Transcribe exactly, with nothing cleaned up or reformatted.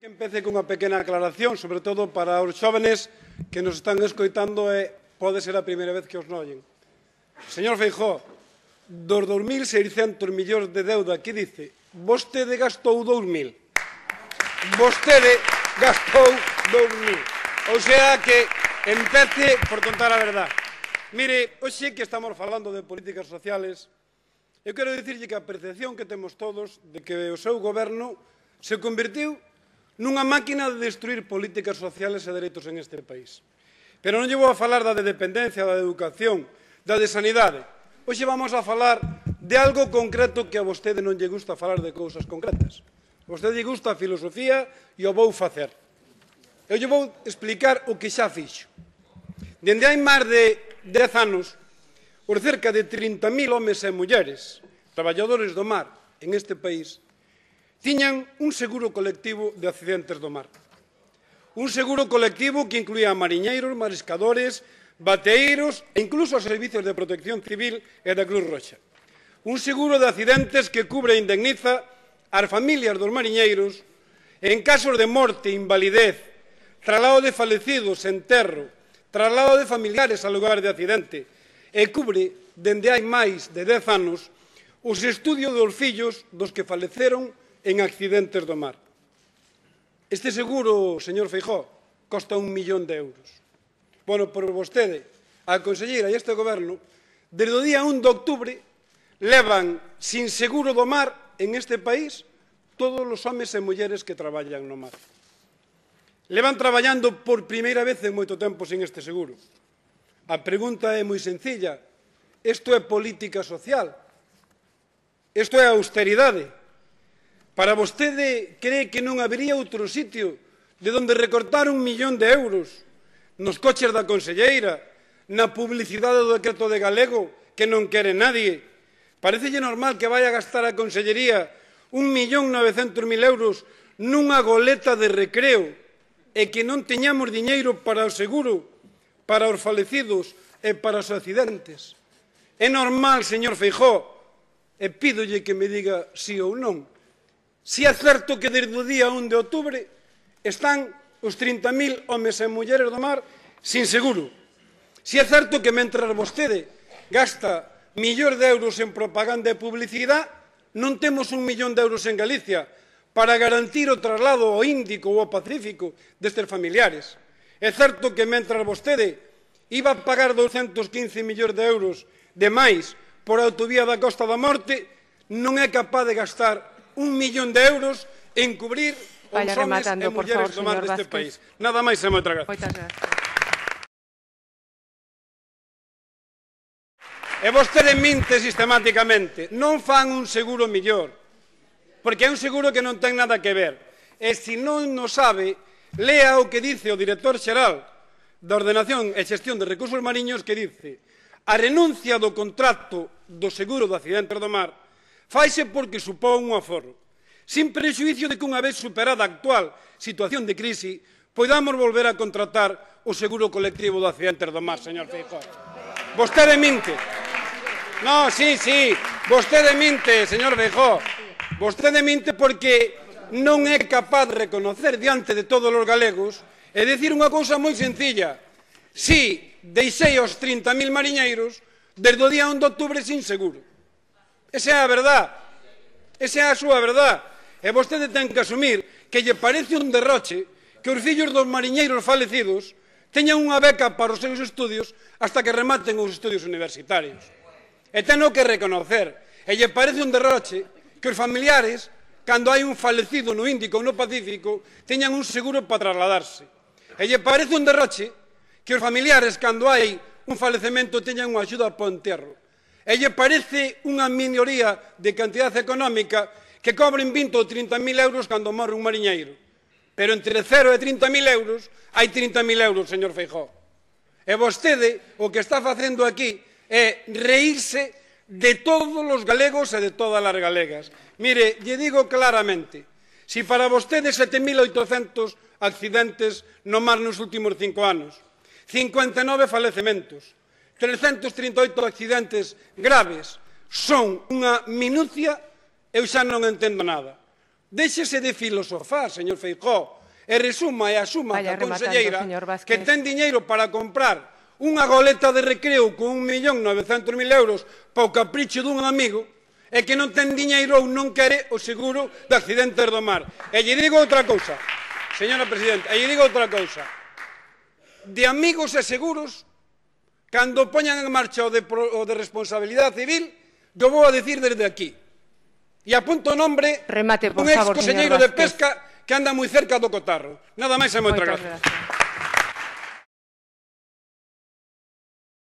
Empece cunha pequena aclaración, sobre todo para os xóvenes que nos están escoitando e pode ser a primeira vez que os noyen. Señor Feijóo, dos dos mil seiscentos millóns de deuda que dice, vostede gastou dous mil. Vostede gastou dous mil. Ou sea que empece por contar a verdade. Mire, hoxe que estamos falando de políticas sociales, eu quero dicirlle que a percepción que temos todos de que o seu goberno se convertiu nunha máquina de destruir políticas sociales e dereitos en este país. Pero non lle vou a falar da de dependencia, da de educación, da de sanidade. Hoxe vamos a falar de algo concreto que a vostede non lle gusta falar de cousas concretas. A vostede lle gusta a filosofía e o vou facer. Eu lle vou explicar o que xa fixo. Dende hai máis de dez anos, por cerca de trinta mil homes e mulleres, traballadores do mar en este país, tiñan un seguro colectivo de accidentes do mar. Un seguro colectivo que incluía mariñeiros, mariscadores, bateeiros e incluso os servicios de protección civil e da Cruz Roxa. Un seguro de accidentes que cubre e indemniza as familias dos mariñeiros en casos de morte, invalidez, traslado de falecidos, enterro, traslado de familiares ao lugar de accidente e cubre, dende hai máis de dez anos, os estudios dos fillos dos que faleceron en accidentes do mar. Este seguro, señor Feijóo, costa un millón de euros. Bueno, por vostede, a conselleira e este goberno, desde o día un de outubro, levan sin seguro do mar en este país todos os homes e mulleres que traballan no mar. Levan traballando por primeira vez en moito tempo sin este seguro. A pregunta é moi sencilla. Isto é política social? Isto é austeridade? Para vostede cree que non habería outro sitio de onde recortar un millón de euros nos coches da conselleira, na publicidade do decreto de galego que non quere nadie? Parecelle normal que vai a gastar a consellería un millón novecentos mil euros nunha goleta de recreo e que non teñamos diñeiro para o seguro, para os falecidos e para os accidentes? É normal, señor Feijóo, e pídolle que me diga sí ou non, si é certo que desde o día un de outubro están os trinta mil homes e mulleres do mar sin seguro. Si é certo que mentre vostede gasta millóns de euros en propaganda e publicidade, non temos un millón de euros en Galicia para garantir o traslado ao Índico ou ao Pacífico destes familiares. É certo que mentre vostede iba a pagar douscentos quince millóns de euros de máis por a autovía da Costa da Morte, non é capaz de gastar un millón de euros en cubrir os homes e mulleres do mar deste país. Nada máis e moitas gracias. Moitas gracias. E vostede minte sistemáticamente. Non fan un seguro millor, porque é un seguro que non ten nada que ver. E se non o sabe, lea o que dice o director xeral da Ordenación e Xestión de Recursos Mariños, que dice: a renuncia do contrato do seguro de accidentes do mar faise porque supón un aforro, sin prexuízo de que unha vez superada a actual situación de crise podamos volver a contratar o seguro colectivo de accidentes do mar, señor Feijóo. Vostede minte. No, sí, sí, vostede minte, señor Feijóo. Vostede minte porque non é capaz de reconocer diante de todos os galegos e dicir unha cousa moi sencilla. Si deixei os trinta mil mariñeiros desde o día un de outubro sin seguro. Esa é a verdade. Esa é a súa verdade. E vostede ten que asumir que lle parece un derroche que os fillos dos mariñeiros falecidos teñan unha beca para os seus estudios hasta que rematen os estudios universitarios. E teno que reconocer. E lle parece un derroche que os familiares, cando hai un falecido no Índico ou no Pacífico, teñan un seguro para trasladarse. E lle parece un derroche que os familiares, cando hai un falecemento, teñan unha axuda para o enterro. E lle parece unha minoría de cantidade económica que cobren vinte ou trinta mil euros cando morre un mariñeiro. Pero entre cero e trinta mil euros hai trinta mil euros, señor Feijóo. E vostede o que está facendo aquí é reírse de todos os galegos e de todas as galegas. Mire, lle digo claramente, si para vostede sete mil oitocentos accidentes no mar nos últimos cinco anos, cincuenta e nove falecementos, trescentos trinta e oito accidentes graves son unha minucia, eu xa non entendo nada. Déxese de filosofar, señor Feijóo, e resuma e asuma Vaya a conselleira rematando, que ten diñeiro para comprar unha goleta de recreo con un millón novecientos mil euros para o capricho dun amigo e que non ten diñeiro ou non quere o seguro de accidentes do mar. E lle digo outra cousa, señora presidenta, e lle digo outra cousa. De amigos e seguros, cando poñan en marcha o de, o de responsabilidade civil, yo vou a decir desde aquí. E apunto o nombre Remate, por un ex favor, conselleiro señor de pesca que anda moi cerca do cotarro. Nada máis e moitas Moitas gracias. gracias.